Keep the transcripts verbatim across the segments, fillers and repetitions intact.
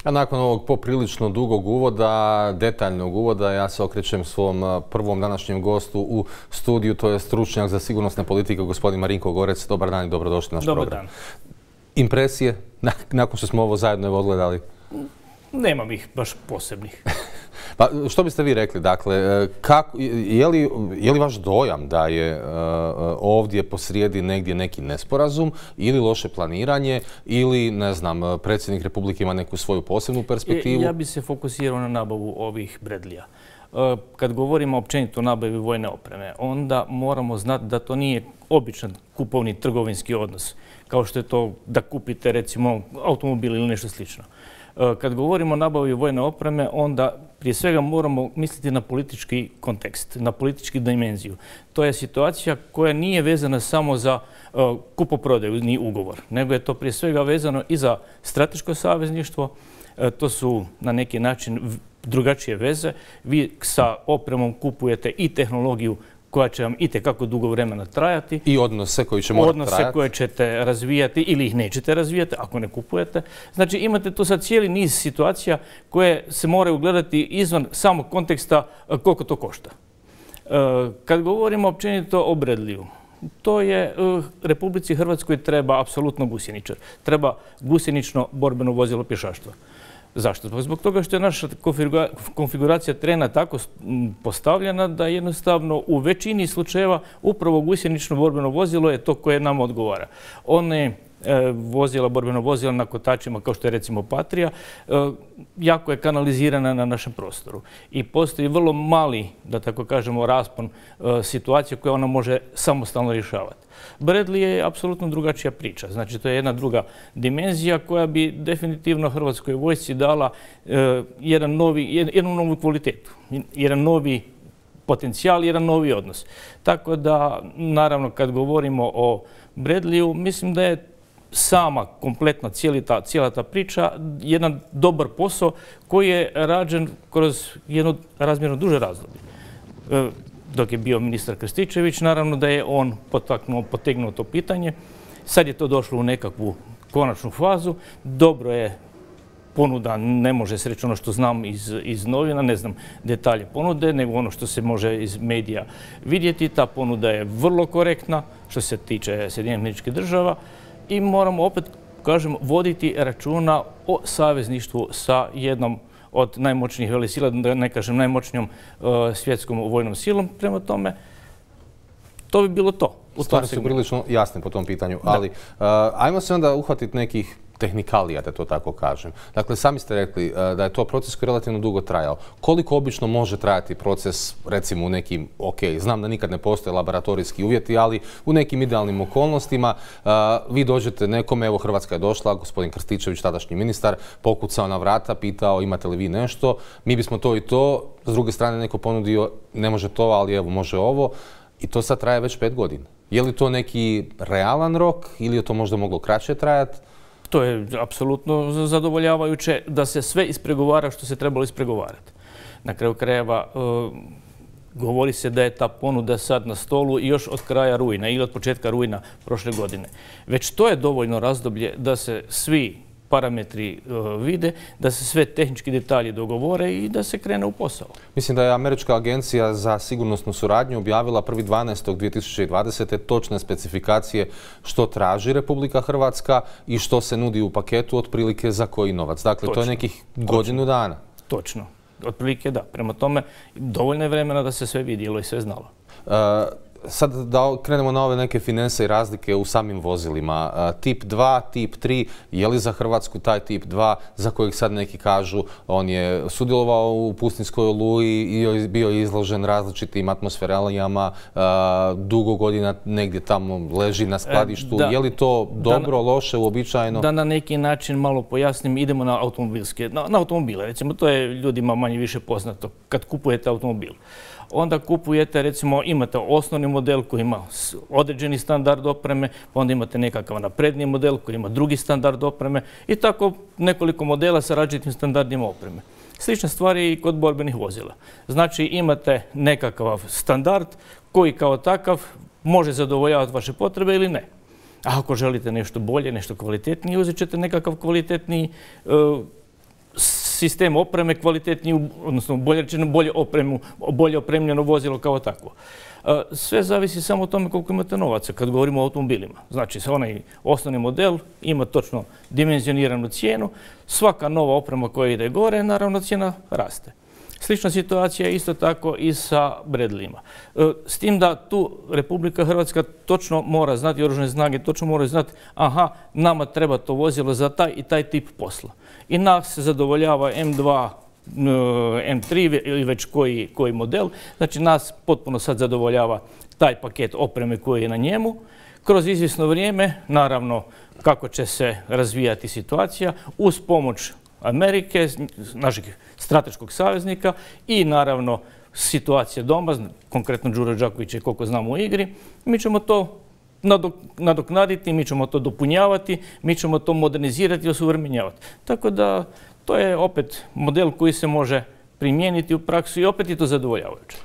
A nakon ovog poprilično dugog uvoda, detaljnog uvoda, ja se okrećem svom prvom današnjem gostu u studiju, to je stručnjak za sigurnosne politike, gospodin Marinko Gorec. Dobar dan i dobrodošli na naš program. Dobar dan. Impresije, nakon što smo ovo zajedno odgledali? Nemam ih baš posebnih. Pa što biste vi rekli, dakle, kako, je, li, je li vaš dojam da je uh, ovdje posrijedi negdje neki nesporazum ili loše planiranje ili, ne znam, predsjednik Republike ima neku svoju posebnu perspektivu? Ja bi se fokusirao na nabavu ovih Bradleya. Uh, kad govorimo općenito o nabavi vojne opreme, onda moramo znati da to nije običan kupovni trgovinski odnos, kao što je to da kupite recimo automobil ili nešto slično. Kad govorimo o nabavi vojne opreme, onda prije svega moramo misliti na politički kontekst, na politički dimenziju. To je situacija koja nije vezana samo za uh, kupoprodaju ni ugovor, nego je to prije svega vezano i za strateško savezništvo. Uh, to su na neki način drugačije veze. Vi sa opremom kupujete i tehnologiju koja će vam itekako dugo vremena trajati. I odnose koji će morati trajati. Odnose koje ćete razvijati ili ih nećete razvijati ako ne kupujete. Znači imate tu sad cijeli niz situacija koje se moraju gledati izvan samog konteksta koliko to košta. Kad govorimo općenito o Bradleyu, to je Republici Hrvatskoj treba apsolutno gusjeničar. Treba gusjenično borbeno vozilo pješaštva. Zašto? Zbog toga što je naša konfiguracija terena tako postavljena da jednostavno u većini slučajeva upravo gusjenično borbeno vozilo je to koje nam odgovara. One vozila, borbeno vozila na kotačima kao što je recimo Patria, jako je kanalizirana na našem prostoru. I postoji vrlo mali, da tako kažemo, raspon situacije koje ona može samostalno rješavati. Bradley je apsolutno drugačija priča. Znači, to je jedna druga dimenzija koja bi definitivno Hrvatskoj vojsci dala jedan novi, jednu novu kvalitetu, jedan novi potencijal, jedan novi odnos. Tako da, naravno, kad govorimo o Bradleyu, mislim da je sama kompletna cijela, cijela ta priča jedan dobar posao koji je rađen kroz jedno razmjerno duže razdoblje. Dok je bio ministar Krstičević, naravno da je on potaknuo, potegnuo to pitanje. Sad je to došlo u nekakvu konačnu fazu. Dobro je ponuda, ne može se reći ono što znam iz, iz novina, ne znam detalje ponude, nego ono što se može iz medija vidjeti. Ta ponuda je vrlo korektna što se tiče Sjedinjenih Američkih Država i moramo opet, kažem, voditi računa o savezništvu sa jednom od najmoćnijih velesila, da ne kažem najmoćnijom uh, svjetskom vojnom silom. Prema tome, to bi bilo to. Stvari su prilično jasne po tom pitanju, ali uh, ajmo se onda uhvatiti nekih tehnikalija, da to tako kažem. Dakle, sami ste rekli uh, da je to proces koji je relativno dugo trajao. Koliko obično može trajati proces, recimo u nekim, ok, znam da nikad ne postoje laboratorijski uvjeti, ali u nekim idealnim okolnostima uh, vi dođete nekome, evo Hrvatska je došla, gospodin Krstičević, tadašnji ministar, pokucao na vrata, pitao imate li vi nešto, mi bismo to i to, s druge strane neko ponudio, ne može to, ali evo može ovo, i to sad traje već pet godina. Je li to neki realan rok ili je to možda moglo kraće trajati? To je apsolutno zadovoljavajuće da se sve ispregovara što se trebalo ispregovarati. Na kraju krajeva uh, govori se da je ta ponuda sad na stolu još od kraja rujna ili od početka rujna prošle godine. Već to je dovoljno razdoblje da se svi parametri uh, vide, da se sve tehnički detalji dogovore i da se krene u posao. Mislim da je Američka agencija za sigurnosnu suradnju objavila prvi dvanaestog dvije tisuće dvadesete točne specifikacije što traži Republika Hrvatska i što se nudi u paketu otprilike za koji novac. Dakle, Točno. To je nekih godinu Točno. dana. Točno. Otprilike da. Prema tome, dovoljno je vremena da se sve vidjelo i sve znalo. Uh, Sad da krenemo na ove neke finanse i razlike u samim vozilima. Tip dva, tip tri, je li za Hrvatsku taj tip dva, za kojeg sad neki kažu, on je sudjelovao u pustinskoj oluji i bio izložen različitim atmosferalijama, dugo godina negdje tamo leži na skladištu. Da, je li to dobro, da, loše, uobičajeno? Da na neki način malo pojasnim, idemo na automobilske, na, na automobile. Recimo, to je ljudima manje više poznato kad kupujete automobil. Onda kupujete, recimo, imate osnovni model koji ima određeni standard opreme, pa onda imate nekakav napredniji model koji ima drugi standard opreme i tako nekoliko modela sa različitim standardima opreme. Slična stvar je i kod borbenih vozila. Znači, imate nekakav standard koji kao takav može zadovoljavati vaše potrebe ili ne. A ako želite nešto bolje, nešto kvalitetnije, uzet ćete nekakav kvalitetniji uh, sistem opreme kvalitetniji, odnosno bolje rečeno bolje, opremu, bolje opremljeno vozilo kao takvo. Sve zavisi samo o tome koliko imate novaca kad govorimo o automobilima. Znači, onaj osnovni model ima točno dimenzioniranu cijenu, svaka nova oprema koja ide gore, naravno cijena raste. Slična situacija je isto tako i sa Bradleyima. S tim da tu Republika Hrvatska točno mora znati, oružane snage točno moraju znati, aha, nama treba to vozilo za taj i taj tip posla. I nas se zadovoljava M dva, M tri ili već koji, koji model. Znači nas potpuno sad zadovoljava taj paket opreme koji je na njemu. Kroz izvjesno vrijeme, naravno kako će se razvijati situacija, uz pomoć Amerike, našeg strateškog saveznika i naravno situacija doma, konkretno Đuro Đaković je koliko znamo u igri, mi ćemo to nadoknaditi, mi ćemo to dopunjavati, mi ćemo to modernizirati i osuvremenjavati. Tako da to je opet model koji se može primijeniti u praksu i opet je to zadovoljavajuće.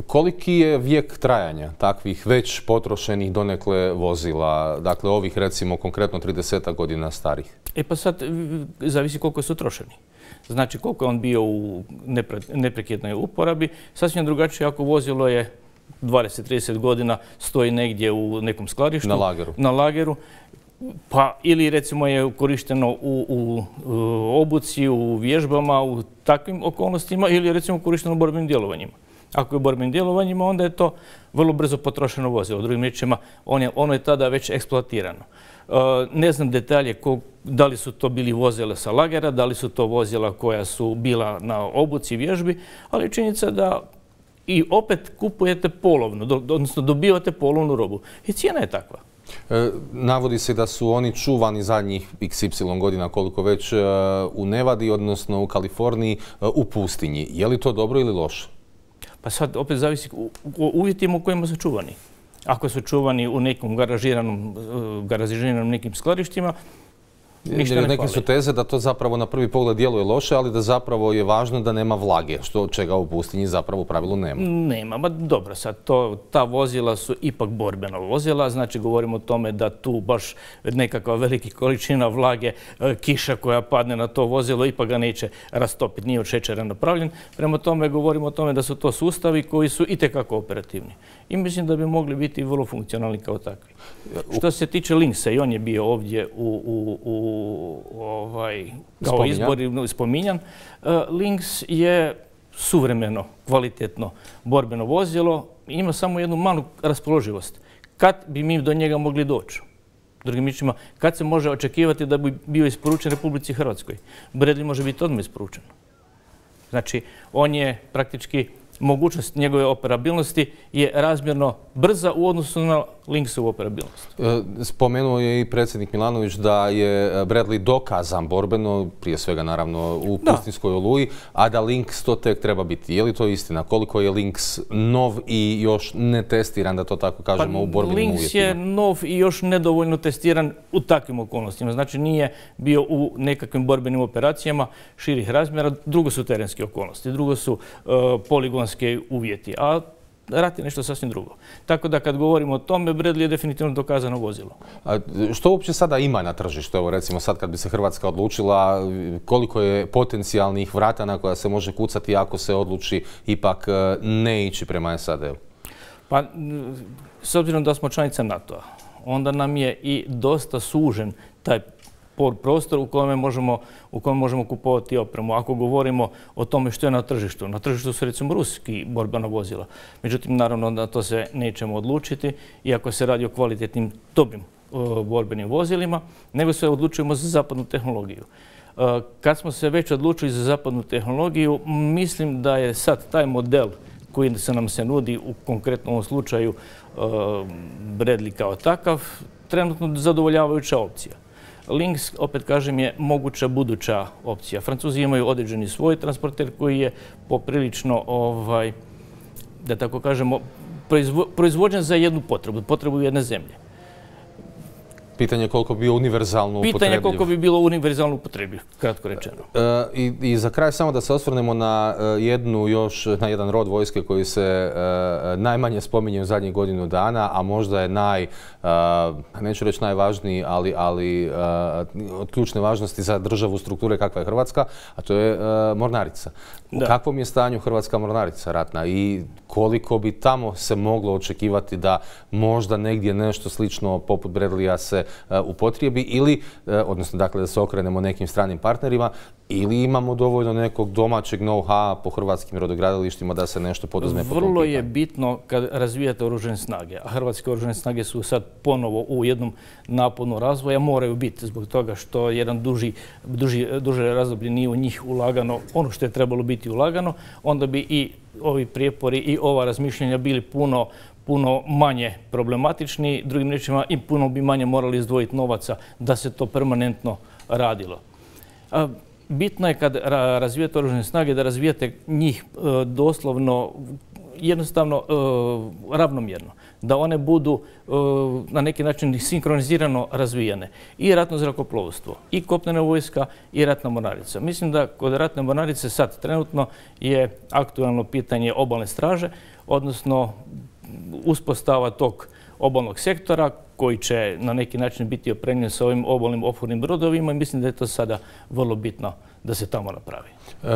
Koliki je vijek trajanja takvih već potrošenih donekle vozila, dakle ovih recimo konkretno trideset godina starih? E pa sad zavisi koliko su trošeni. Znači koliko je on bio u neprekidnoj uporabi, sasvim drugačije ako vozilo je dvadeset do trideset godina, stoji negdje u nekom skladištu. Na lageru. Na lageru. Pa ili recimo je korišteno u, u, u obuci, u vježbama, u takvim okolnostima ili je recimo korišteno u borbenim djelovanjima. Ako je u borbenim djelovanjima, onda je to vrlo brzo potrošeno vozilo. Drugim riječima, on je, ono je tada već eksploatirano. Uh, ne znam detalje ko, da li su to bili vozila sa lagera, da li su to vozila koja su bila na obuci, vježbi, ali činjenica da i opet kupujete polovno, do, odnosno dobivate polovnu robu. I cijena je takva. E, navodi se da su oni čuvani zadnjih iks ipsilon godina koliko već e, u Nevadi, odnosno u Kaliforniji, e, u pustinji. Je li to dobro ili loše? Pa sad opet zavisi u, u uvjetima u kojima su čuvani. Ako su čuvani u nekom garažiranom, garažiranom nekim skladištima, ništa ne Neke fali. su teze da to zapravo na prvi pogled djeluje loše, ali da zapravo je važno da nema vlage, što čega u pustinji zapravo u pravilu nema. Nema, ma dobro, sad to, ta vozila su ipak borbena vozila, znači govorimo o tome da tu baš nekakva velika količina vlage, kiša koja padne na to vozilo ipak ga neće rastopiti, nije od šećera napravljen. Prema tome govorimo o tome da su to sustavi koji su itekako operativni. I mislim da bi mogli biti vrlo funkcionalni kao takvi. Što se tiče Lynxa, i on je bio ovdje u, u, u ovaj, kao Spominjan. izbor spominjan, Lynx je suvremeno, kvalitetno borbeno vozilo, ima samo jednu malu raspoloživost. Kad bi mi do njega mogli doći? Drugim riječima, kad se može očekivati da bi bio isporučen Republici Hrvatskoj? Bradley može biti odmah isporučen. Znači, on je praktički, mogućnost njegove operabilnosti je razmjerno brza u odnosu na Lynxovu operabilnost. Spomenuo je i predsjednik Milanović da je Bradley dokazan borbeno, prije svega naravno u pustinskoj Oluji, a da Lynx to tek treba biti. Je li to istina? Koliko je Lynx nov i još ne testiran, da to tako kažemo, pa, u borbenim uvjetima? Lynx je nov i još nedovoljno testiran u takvim okolnostima. Znači nije bio u nekakvim borbenim operacijama širih razmjera. Drugo su terenske okolnosti, drugo su uh, poligonske uvjeti. A rat je nešto sasvim drugo. Tako da kad govorimo o tome, Bradley je definitivno dokazano vozilo. A što uopće sada ima na tržištu? Evo recimo sad kad bi se Hrvatska odlučila, koliko je potencijalnih vrata na koja se može kucati ako se odluči ipak ne ići prema es a de-u? Pa, s obzirom da smo članica NATO-a, onda nam je i dosta sužen taj prostor u kojem možemo, u kojem možemo kupovati opremu. Ako govorimo o tome što je na tržištu, na tržištu su recimo ruski borbena vozila. Međutim, naravno da to se nećemo odlučiti, iako se radi o kvalitetnim, dobrim uh, borbenim vozilima, nego se odlučujemo za zapadnu tehnologiju. Uh, kad smo se već odlučili za zapadnu tehnologiju, mislim da je sad taj model koji se nam se nudi u konkretnom slučaju uh, Bradley kao takav, trenutno zadovoljavajuća opcija. Lynx, opet kažem, je moguća buduća opcija. Francuzi imaju određeni svoj transporter koji je poprilično, ovaj, da tako kažemo, proizvo, proizvođen za jednu potrebu, potrebu jedne zemlje. pitanje je koliko bi bio univerzalno upotrebljiv. Pitanje je koliko bi bilo univerzalno upotrebljiv, kratko rečeno. E, i, I za kraj samo da se osvrnemo na jednu još, na jedan rod vojske koji se e, najmanje spominje u zadnjih godinu dana, a možda je naj, e, neću reći najvažniji, ali, ali e, od ključne važnosti za državu strukture kakva je Hrvatska, a to je e, mornarica. U kakvom je stanju hrvatska mornarica ratna i koliko bi tamo se moglo očekivati da možda negdje nešto slično poput Bradleya se uh, upotrijebi ili, uh, odnosno dakle da se okrenemo nekim stranim partnerima, ili imamo dovoljno nekog domaćeg know-how po hrvatskim rodogradilištima da se nešto poduzme po tom pitanju? Vrlo je bitno kad razvijate oružane snage, a hrvatske oružane snage su sad ponovo u jednom naponu razvoja, moraju biti zbog toga što jedan duži, duži, duže razdoblje nije u njih ulagano ono što je trebalo biti ulagano, onda bi i ovi prijepori i ova razmišljanja bili puno puno manje problematični, drugim riječima i puno bi manje morali izdvojiti novaca da se to permanentno radilo. Bitno je kad razvijate oružane snage da razvijate njih doslovno jednostavno ravnomjerno, da one budu na neki način sinkronizirano razvijene. I ratno zrakoplovstvo, i kopnena vojska, i ratna mornarica. Mislim da kod ratne mornarice sad trenutno je aktualno pitanje obalne straže, odnosno uspostava tog obalnog sektora koji će na neki način biti opremljen sa ovim obalnim ophodnim brodovima i mislim da je to sada vrlo bitno da se tamo napravi. E,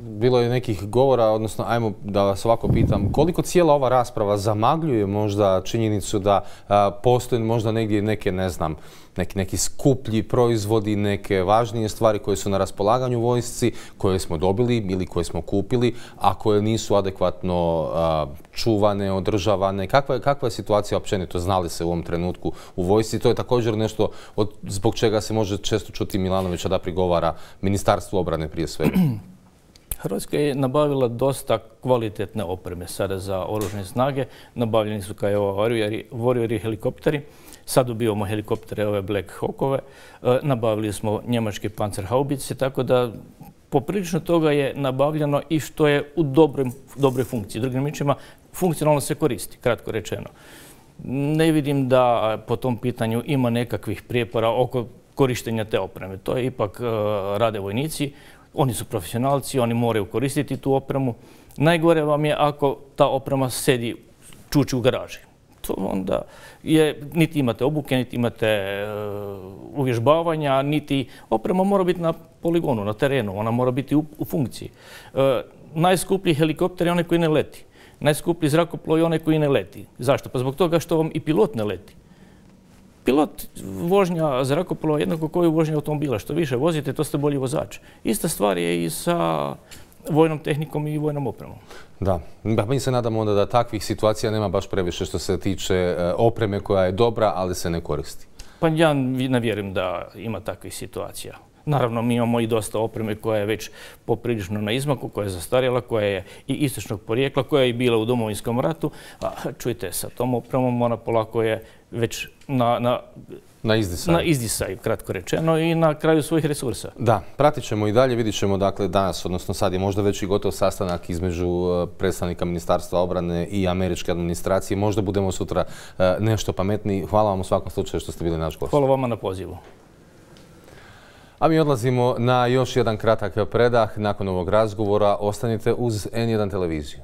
bilo je nekih govora, odnosno ajmo da vas ovako pitam, koliko cijela ova rasprava zamagljuje možda činjenicu da a, postoje možda negdje neke, ne znam, neki, neki skuplji proizvodi, neke važnije stvari koje su na raspolaganju vojsci, koje smo dobili ili koje smo kupili, a koje nisu adekvatno a, čuvane, održavane. Kakva je, kakva je situacija općenito, znali se u ovom trenutku u vojsci? To je također nešto od, zbog čega se može često čuti Milanovića da prigovara Ministarstvu obrane prije svega. Hrvatska je nabavila dosta kvalitetne opreme sada za oružane snage. Nabavljeni su kao ovo Warrior helikopteri. Sad dobivamo helikoptere, ove Black Hawkove. E, nabavili smo njemačke Panzerhaubice, tako da poprilično toga je nabavljeno i što je u dobroj, dobroj funkciji. Drugim riječima, funkcionalno se koristi, kratko rečeno. Ne vidim da po tom pitanju ima nekakvih prijepora oko korištenja te opreme. To je ipak uh, rade vojnici, oni su profesionalci, oni moraju koristiti tu opremu. Najgore vam je ako ta oprema sedi čuči u garaži. To onda je, niti imate obuke, niti imate uh, uvježbavanja, niti oprema mora biti na poligonu, na terenu, ona mora biti u, u funkciji. Uh, najskuplji helikopter je onaj koji ne leti. Najskuplji zrakoplov je onaj koji ne leti. Zašto? Pa zbog toga što vam i pilot ne leti. Pilot vožnja zrakoplova jednako kao i vožnja automobila. Što više vozite, to ste bolji vozač. Ista stvar je i sa vojnom tehnikom i vojnom opremom. Da, mi se nadamo onda da takvih situacija nema baš previše što se tiče opreme koja je dobra, ali se ne koristi. Pa ja ne vjerujem da ima takvih situacija. Naravno, mi imamo i dosta opreme koja je već poprilično na izmaku, koja je zastarjela, koja je i istočnog porijekla, koja je i bila u Domovinskom ratu. A čujte, sa tom opremom ona polako je već na, na, na izdisaju. na izdisaju, kratko rečeno, i na kraju svojih resursa. Da, pratit ćemo i dalje, vidit ćemo dakle danas, odnosno sad je možda već i gotov sastanak između predstavnika Ministarstva obrane i američke administracije. Možda budemo sutra nešto pametniji. Hvala vam u svakom slučaju što ste bili naš gost. Hvala vama na pozivu. A mi odlazimo na još jedan kratak predah. Nakon ovog razgovora ostanite uz N jedan televiziju.